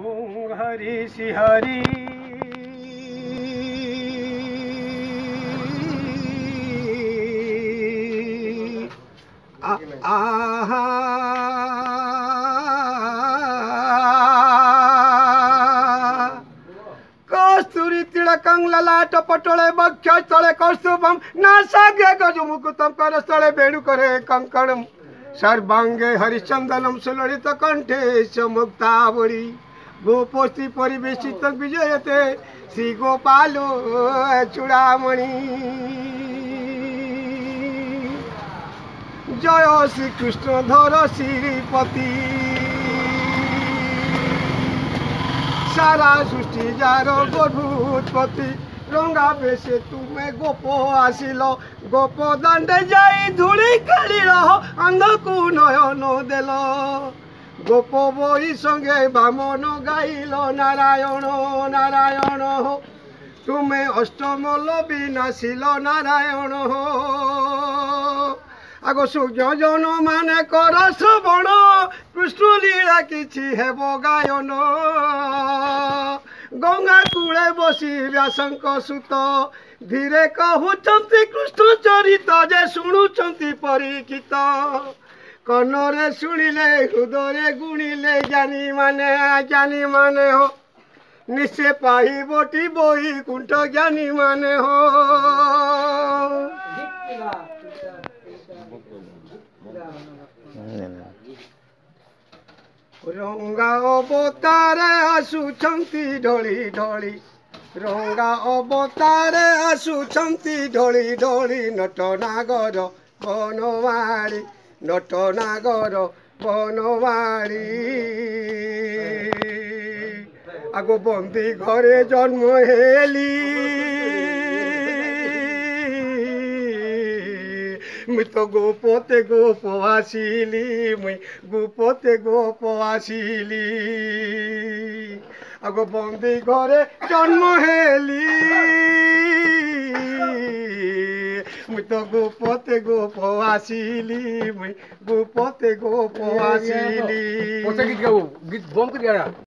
ओम हरि श्री हरि। आहा कस्तूरी तिलकं ललाट पटोले बक्षस्थले कौस्तुभम नासाग्रे गजमुकुटं करस्थले वेणुकरे कंकणम सर्वांगे हरिश्चंदनम सुललित कंठे मुक्तावली गोपोस्त्री परिवेशित विजयते श्री गोपालो चूड़ामणि। जय श्री कृष्ण धर श्रीपति सारा सृष्टि जार गभूतपति। रंगा बेसे तुम्हें गोप आसिल गोप दांडे जाई धूली खेलिल अंधकु नयन देल। गोप बही संगे बामन गाइल नारायण नारायण हो तुम्हें अष्टमल विनाशिल नारायण हो। आगो सुजन माने कर श्रवण कृष्ण लीला किछि हेब गायन। गंगा कूले बसी व्यासंक सुत धीरे कहूचंती कृष्ण चरित जे शुणुचंती परीक्षित। कनरे शुणिले हृदय गुणिले ज्ञानी माने हो निश्चय पाइबटी बैकुंठ ज्ञानी माने हो। रंगा अवतारे आसुचंती ढली ढली रंगा अवतारे आसुचंती ढली ढली नटनागर बनमाली नटनागर बनमाली। आगो बंदी घरे जन्म हेली मुई तो गोपते गोप आसिली मुई गोपते गोप आसिली। आगो बंदी घरे जन्म हेली मुई तो गोपते गोप आसिली मुई गोपते गोप आसिली। गीत बम कर।